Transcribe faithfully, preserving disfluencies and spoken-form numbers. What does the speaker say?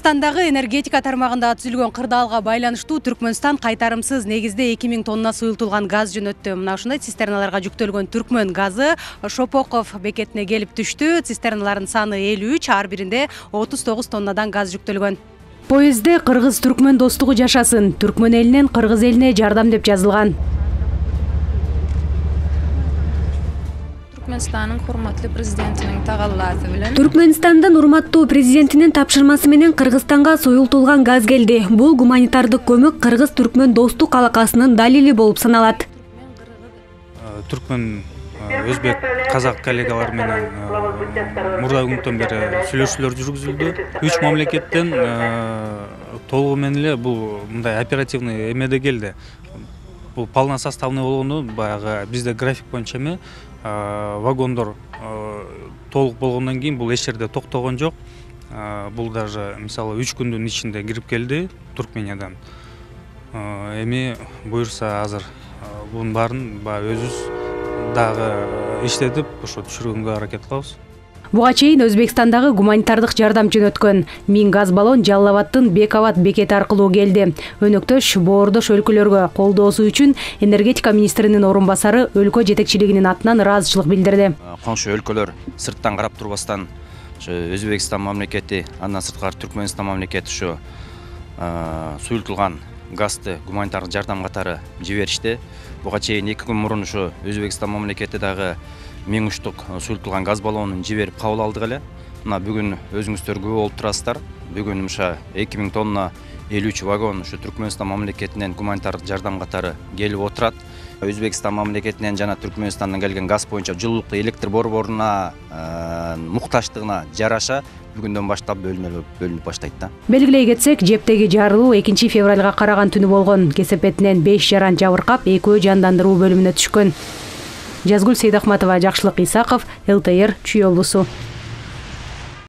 Кыргызстандагы энергетика тармагында түзүлгөн кырдаалга байланыштуу Түркмөнстан кайтарымсыз негизде эки миң тонна суюлтулган газ жөнөттү. Мына ушундай цистерналарга жүктөлгөн Түркмөн газы Шопоков бекетине келип түштү. Цистерналардын саны элүү үч, ар биринде отуз тогуз тоннадан газ жүктөлгөн. Поездде Кыргыз-Түркмөн достугу жашасын, Түркмөн элинен Кыргыз элине жардам деп жазылган. Түркмөнстандын урматтуу президентинин тагаллааты менен Түркмөнстандын урматтуу президентинин тапшырмасы менен Кыргызстанга суюлтулган газ келди. Бул гуманитардык көмөк Кыргыз-Түркмөн достук алакасынын далили болуп саналат. Түркмөн өзбек казак коллегалар менен мурда күндөн бери сүйлөшүүлөр жүргүзүлдү. Үч мамлекеттен толугу менен эле бул мындай оперативный эмеде келди. Бул полносоставный болгону баягы бизде график боюнча эме вагондор толук болгондон кийин бул эч жерде токтогон жок. Бул даже мисалы үч күндүн ичинде кирип келди Туркмениядан. Эми буюрса азыр бунун баарын баягы өзүбүз дагы иштетип ошо түшүргөнгө аракет кылабыз. Буга чейин Өзбекстандагы гуманитардык жардам жөнөткөн. Миң газ баллон Жалал Абадтын Бекават бекети аркылуу келди. Өнөктөш боордош өлкөлөргө колдоосу үчүн энергетика министринин орун басары өлкө жетекчилигинин атынан ыраазычылык билдирди. Коңшу өлкөлөр сырттан карап турбастан ошо Өзбекстан мамлекети, андан сырткары Түркмөнстан мамлекети ошо суюлтулган газды гуманитардык жардам катары жиберишти. Буга чейин эки күн мурун ошо Өзбекстан мамлекети дагы миң учтук суюлтулган газ баллонун жиберип кабыл алдык эле. Мына бүгүн өзүңүздөр күбө болуп турасыздар. Бүгүн ошо эки миң тонна элүү үч вагон ошо Түркмөнстан мамлекетинен гуманитардык жардам катары келип отурат. Өзбекстан мамлекетинен жана Түркмөнстандан келген газ боюнча жылуулукту электр борборуна муктаждыгына жараша бүгүндөн баштап бөлүнүп баштайт да. Белгилей кетсек, жептеги жарылуу экинчи февралга караган түнү болгон. Кесепетинен беш жаран жабыркап, экөө жандандыруу бөлүмүнө түшкөн. Жазгүл Сейдахматова, Жакшылык Исаков, эл тэ эр Чүй облусу.